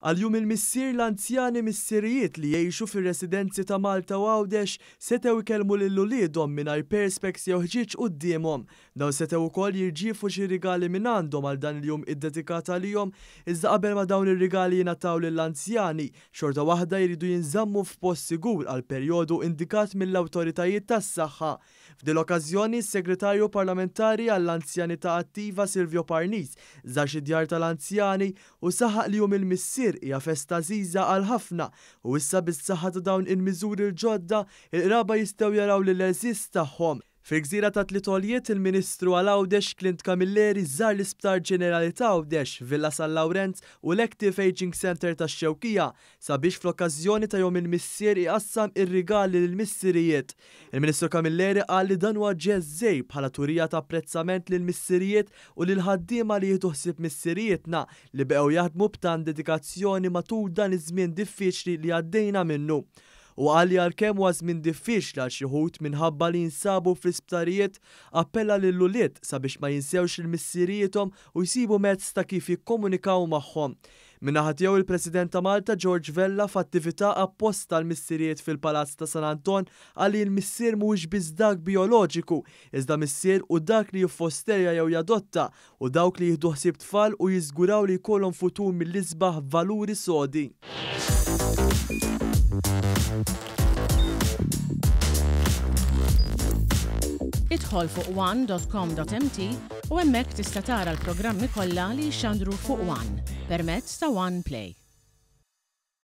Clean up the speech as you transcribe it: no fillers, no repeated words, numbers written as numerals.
Għal Jum il-Missier, l-anzjani missirijiet li jgħixu fir-residenzi ta' Malta u Għawdex setgħu jkellmu lil uliedhom mingħajr perspex jew ħġieġ quddiemhom. Dawn setgħu wkoll jirċievu xi rigali mingħandhom għal dan il-jum iddedikat għalihom, iżda qabel ma dawn ir-rigali jingħataw lill-anzjani, xorta waħda jridu jinżammu f'post sigur għal perjodu indikat mill-awtoritajiet tas-saħħa. F'din l-okkażjoni, is-Segretarju Parlamentari għall-Anzjanità Attiva Silvio Parnis żar xi djar tal-anzjani u saħaq li Jum il-Missier hija festa għażiża għal ħafna u issa bis-saħħa ta' dawn il-miżuri l-ġodda, il-qraba jistgħu jaraw lill-għeżież tagħhom. Fil-gżira tat-Tliet Għoljiet, il-Ministru għal Għawdex Clint Camilleri żar l-Isptar Ġenerali t'Għawdex, Villa San Lawrenz u l-Active Ageing Centre tax-Xewkija sabiex fl-okkażjoni ta' Jum il-Missier iqassam ir-rigali lill-missirijiet. Il-Ministru Camilleri qal li dan huwa ġest żgħir bħala turija ta' apprezzament lill-missirijiet u lill-ħaddiema li jieħdu ħsieb missirijietna li beqgħu jaħdmu b'tant dedikazzjoni matul dan iż-żmien diffiċli li għaddejna minnu. Huwa qal li għalkemm huwa żmien diffiċli għal xi wħud minħabba li jinsabu fl-isptarijiet, appella lill-ulied sabiex ma jinsewx lil missirijiethom u jsibu mezz ta' kif jikkomunikaw magħhom. Min-naħa tiegħu il-President ta' Malta George Vella f'attività apposta għall-missirijiet fil-Palazz ta' San Anton qal li l-missier mhuwiex biss dak bijoloġiku, iżda missier hu dak li jiffosterja jew jadotta u dawk li jieħdu ħsieb tfal u jiżguraw li jkollhom futur mill-isbaħ b'valuri sodi. Idħol fuq one.com.mt u hemmhekk tista' tara l-programmi kollha li jixxandru fuq One permezz ta' One Play.